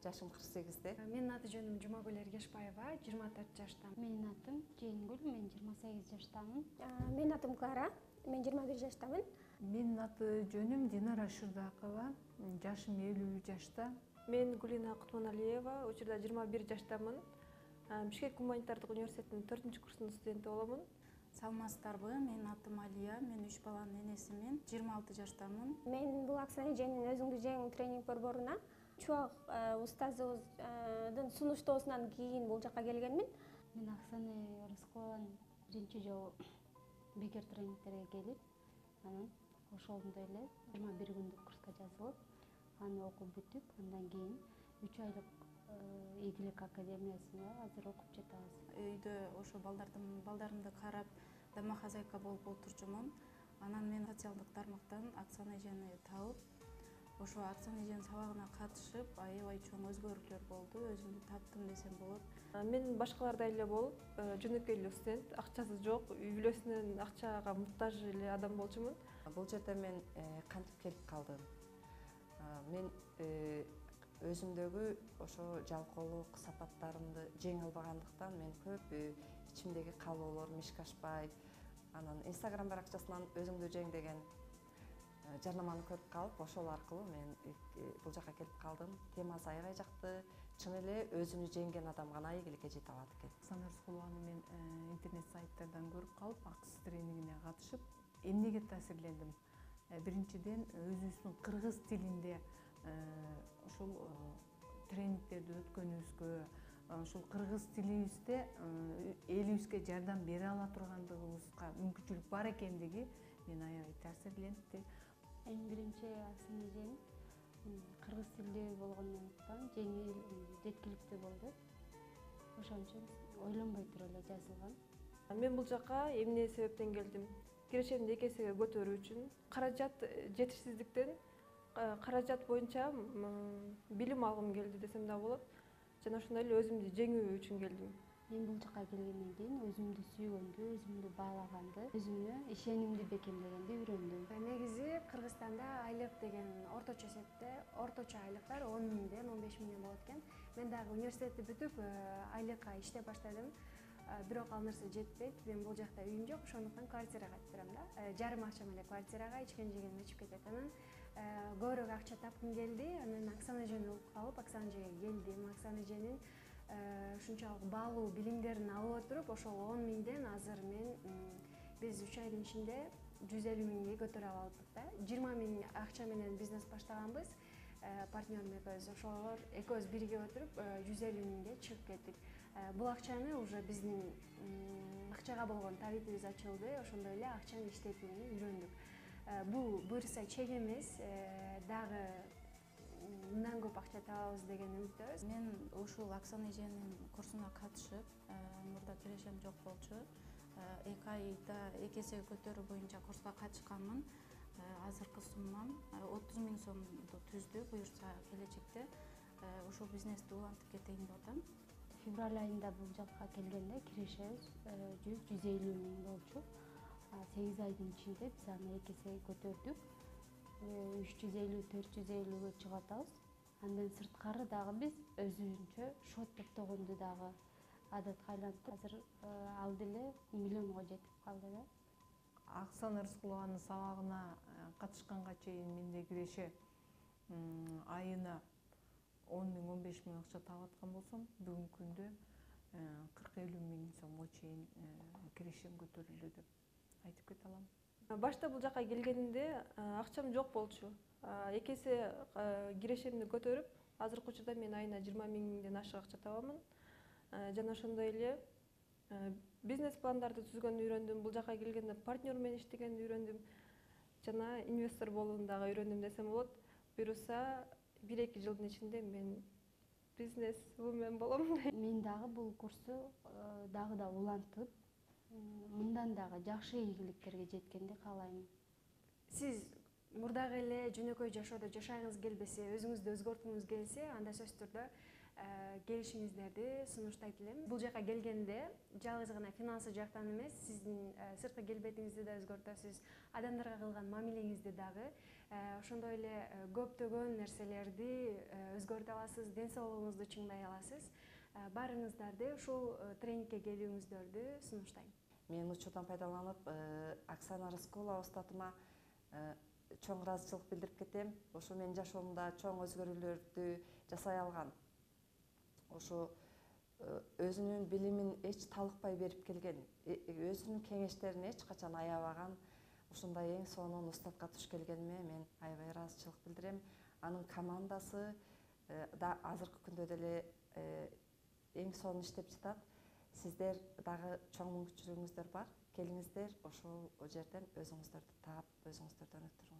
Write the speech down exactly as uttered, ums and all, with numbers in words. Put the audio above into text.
жашым кырк сегизде. Менин аты жөнүм Жумагүл Эргешбаева, жыйырма төрт жаштамын. Менин атым Жээнкүл, мен жыйырма сегиз жаштамын. Менин атым Клара, мен жыйырма бир жаштамын. Менин аты жөнүм Динара Шырдакова, жашым элүү жашта. Мен Гулина Кутманалиева, учурда жыйырма бир жаштамын. Бишкек гуманитардык университетинин төртүнчү курсунун студенти боломун. Саламатсыздарбы? Менин атым Алия, мен үч баланын энесимин, жыйырма алты жаштамын. Мен бул Оксана эженин өзүңдү жең тренинг борборуна чубак устазыбыздын сунуштоосунан кийин бул жака келгенмин. Мен Оксана Рыскулованы биринчи жолу бекер тренингтерге келип, анан ошондой эле жыйырма бир күндүк курска жазылып, аны окуп бүтүп, андан кийин үч айлык ийгилик академиясында азыр окуп жатабыз. Үйдө ошо балдардын балдарымды карап, домохозяйка болуп отурчумун. Анан мен социалдык тармактан Оксана эжени таап, ошо Оксана эженин сабагына катышып, аябай чоң өзгөрүүлөр болду. Өзүмдү таптым десем болот. Мен башкалардай эле болуп, жөнөкөй эле студент, акчасы жок, үй бүлөсүнөн акчага муктаж эле адам болчумун. Бул жерде мен кантип келип калдым? Мен өзүмдөгү ошо жалкоолук сапаттарымды жеңе албагандыктан мен көп ичимдеги каалоолор мишкашпай, анан Instagram баракчасынан өзүңдү жең деген жарнаманы көрүп калып, ошол аркылуу мен бул жака келип калдым. Темасы аябай жакты. Чын эле өзүнү жеңген адам гана ийгиликке жете алат экен. Оксана Рыскулованы мен интернет сайттардан көрүп калып, акыс тренингине катышып, эмнеге таасирлендим? Биринчиден, өзүбүздүн кыргыз тилинде ушул тренингтерди өткөнүбүзгө, ушул кыргыз тилибизде элибизге жардам бере ала тургандыгыбызга мүмкүнчүлүк бар экендиги мени аябай таасирлентти. Эң биринчи Оксана эженин кыргыз тилдүү болгондуктан жеңил, жеткиликтүү болду. Ошон үчүн ойлонбой туруп эле жазылган. Мен бул жака эмне себептен келдим? Кирешемди эки эсеге көтөрүү үчүн, каражат жетишсиздиктен каражат боюнча билим алгым келди десем да болот. Жана ошондой эле өзүмдү жеңүү үчүн келдим. Мен бул жака келгенден кийин өзүмдү сүйгөндү, өзүмдү баалаганды, өзүмө ишенимди бекемдегенди үйрөндүм. Негизи Кыргызстанда айлык деген орточо эсепте, орточо айлыктар он миңден он беш миңден болот экен. Мен дагы университетти бүтүп, айлыкка иштеп баштадым. Бирок ал нерсе жетпейт. Мен бул жакта үйүм жок, ошондуктан квартирага турам да. Жарым акча менен квартирага ичкен жегеним ичип кетет. Анан көбүрөөк акча тапкым келди. Анан Оксана эжени угуп калып, Оксана эжеге келдим. Оксана эженин ушунчалык баалуу билимдерин алып отуруп, ошол он миңден азыр мен биз үч айдын ичинде жүз элүү миңге көтөрүп алдык да. жыйырма миң акча менен бизнес баштаганбыз. Партнерим экөөбүз, ошолор экөөбүз бирге отуруп жүз элүү миңге чыгып кеттик. Бул акчаны уже биздин акчага болгон табитибиз ачылды, ошондой эле акчанын иштетүүнү үйрөндүк. Бул буюрса чек эмес, дагы мындан көп акча табабыз деген үмүттөбүз. Мен ушул Оксана эженин курсуна катышып, мурда кирешем жок болчу. эки айда эки эсеге көтөрүү боюнча курска катышканмын. Азыркы суммам отуз миң сомду түздү. Буюрса келечекте ушул бизнести улантып кетейин деп атам. Февраль айында бул жакка келгенде кирешебиз жүз жүз элүү миң болчу. сегиз айдын ичинде биз аны эки эсеге көтөрдүк. үч жүз элүү төрт жүз элүүгө чыгып атабыз. Андан сырткары дагы биз өзүбүзчө шот топтогонду дагы адатка айлантып, азыр ал деле миллионго жетип калды да. Оксана Рыскулованын сабагына катышканга чейин менде киреше айына он миң он беш миң акча таап аткан болсом, бүгүнкү күндө кырк элүү миң сомго чейин кирешем көтөрүлдү деп айтып кете алам. Башта бул жака келгенимде акчам жок болчу. Эки эсе кирешемди көтөрүп, азыркы учурда мен айына жыйырма миңден ашык акча табамын. Жана ошондой эле бизнес пландарды түзгөндү үйрөндүм. Бул жака келгенде партнер менен иштегенди үйрөндүм. Жана инвестор болууну дагы үйрөндүм десем болот. Буюрса бир эки жылдын ичинде мен бизнес вумен болом. Мен дагы бул курсту дагы да улантып, мындан дагы жакшы ийгиликтерге жеткенди каалайм. Сиз мурдагы эле жөнөкөй жашоодо жашагыңыз келбесе, өзүңүздү өзгөрткүңүз келсе, анда сөзсүз түрдө келишиңиздерди сунуштайт элем. Бул жака келгенде жалгыз гана финансы жактан эмес, сиздин сырткы келбетиңизди да өзгөртөсүз, адамдарга кылган мамилеңизди дагы, ошондой эле көптөгөн нерселерди өзгөртө аласыз, ден соолугуңузду чыңдай аласыз. Баарыңыздарды ушул тренингке келүүңүздөрдү сунуштайм. Мен учурдан пайдаланып Оксана Рыскулова устатыма чоң ыраазычылык билдирип кетем. Ошо менин жашоомдо чоң өзгөрүүлөрдү жасай алган. Ошо өзүнүн билимин эч талыкпай берип келген, өзүнүн кеңештерин эч качан аябаган, ушундай эң сонун устатка туш келгениме мен аябай ыраазычылык билдирем. Анын командасы да азыркы күндө деле эң сонун иштеп жатат. Сиздер дагы чоң мүмкүнчүлүгүңүздөр бар. Келиңиздер, ошол жерден өзүңүздөрдү таап, өзүңүздөрдү өнүктүрүңүздөр.